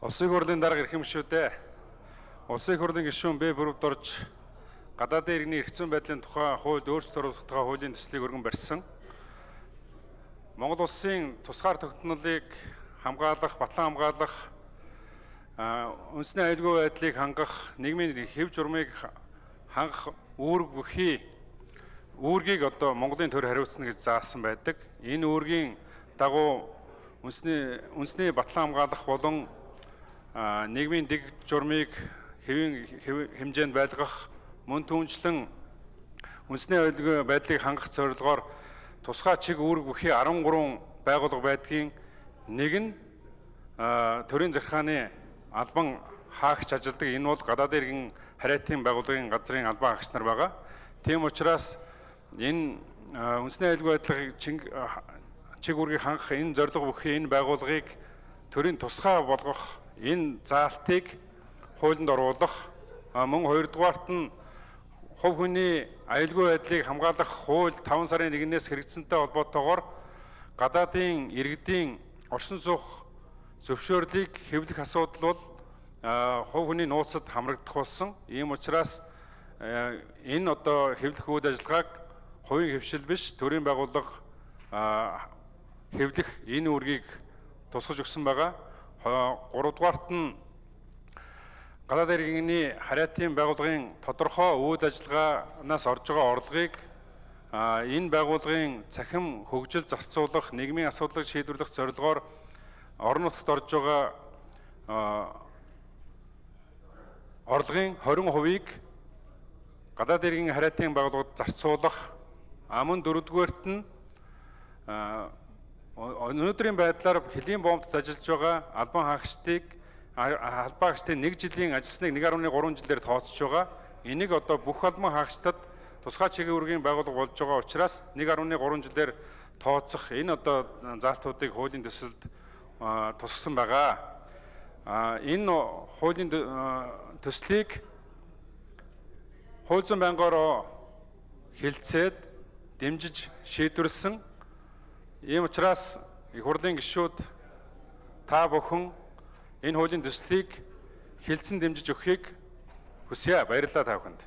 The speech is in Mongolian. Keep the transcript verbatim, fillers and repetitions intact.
Улсын хурлын дарга эрхэм гишүүдээ Улсын хурлын гишүүн Б бүрөвд орж гадаадын иргэний эрх зүйн байдлын тухай хуульд өөрчлөлт оруулах тухай хуулийн төслийг өргөн барьсан. Монгол улсын тусгаар тогтнолыг хамгаалах, батлан хамгаалах, үндэсний аюулгүй байдлыг хангах, нийгмийн хэв журмыг хангах үүрэг бүхий үүргийг одоо Монголын төр хариуцна гэж заасан байдаг. Энэ үүргийн дагуу үндэсний үндэсний батлан хамгаалах болон нийгмийн дэг журмыг хэвийн хэмжээнд байлгах, мөн түүнчлэн үндэсний аюулгүй байдлыг хангах зорилгоор тусгай чиг үүрэг бүхий арван гурван байгууллага байдгийн нэг нь төрийн захиргааны албан хаагч ажилдаг. Энэ бол гадаадын иргэн хариатын байгууллагын газрын албан хаагч нар байгаа. Тийм учраас энэ үндэсний аюулгүй байдлыг чиг үүргийг хангах энэ зорилго бүхий энэ байгууллагыг төрийн тусгай болгох энэ заалтыг хуулинд оруулах, мөн хоёрдугаарт нь хувь хүний аюулгүй байдлыг хамгаалах хууль таван сарын нэгнээс хэрэгжсэнтэй холбоотойгоор гадаадын иргэдийн оршин суух зөвшөөрлийг хэвлэх асуудал бол хувь хүний нууцад хамрагдах болсон. Ийм учраас энэ одоо хэвлэх үйл ажиллагааг хувийн хөвшил биш, төрийн байгууллага хэвлэх энэ үүргийг тусгаж өгсөн байгаа. Гуравдугаарт нь гадаадын иргэний хариатын байгууллагын тодорхой үйл ажиллагаанаас орж байгаа орлогыг энэ байгууллагын цахим хөгжил зарцуулах, нийгмийн асуудлыг шийдвэрлэх зорилгоор орон нутагт орж байгаа орлогын хорин хувийг гадаадын иргэн хариатын байгууллагад зарцуулах, мөн дөрөвдүгээрт нь өнөөдрийн байдлаар хөлийн боомтод ажиллаж байгаа албан хаагчдыг албан хаагчдын нэг жилийн ажилсныг нэг гаруй гурван жилээр тооцож байгаа. Энийг одоо бүх албан хаагчдад тусгай чиглэлийн үүргийн байгууллага болж байгаа учраас нэг гаруй гурван жилээр тооцох энэ одоо заалтуудыг хуулийн төсөлд тусгасан байгаа. Энэ хуулийн төслийг хууль зүйн байнгаараа хэлэлцээд дэмжиж шийдвэрлсэн. Ийм учраас их хурлын гишүүд та бүхэн энэ хуулийн төслийг хэлцэн дэмжиж өгөхийг хүсье. Баярлалаа та бүхэнд.